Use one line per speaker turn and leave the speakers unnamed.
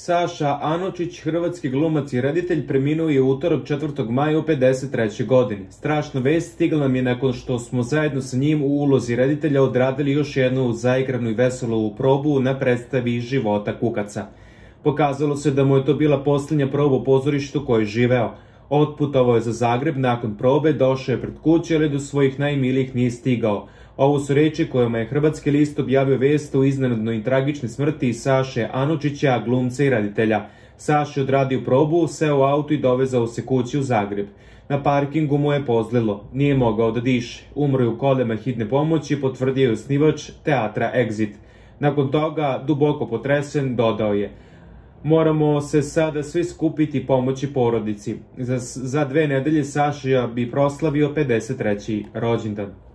Saša Anučić, hrvatski glumac i reditelj, preminuo je u utorak 4. maja u 53. godini. Strašna vest stigla nam je nakon što smo zajedno sa njim u ulozi reditelja odradili još jednu zaigranu i veselu probu na predstavi Života kukaca. Pokazalo se da mu je to bila posljednja proba u pozorištu koje je živeo. Otputovao je za Zagreb nakon probe, došao je pred kuće, ali do svojih najmilijih nije stigao. Ovo su reči kojima je Hrvatski list objavio vest o iznenadnoj i tragičnoj smrti Saše Anučića, glumca i reditelja. Saša je odradio probu, seo u auto i dovezao se kući u Zagreb. Na parkingu mu je pozlilo, nije mogao da diše. Umro je u kolima hitne pomoći, potvrdio je osnivač teatra Exit. Nakon toga, duboko potresen, dodao je: "Moramo se sada svi skupiti i pomoći porodici. Za 2 nedelje Saša bi proslavio 53. rođendan."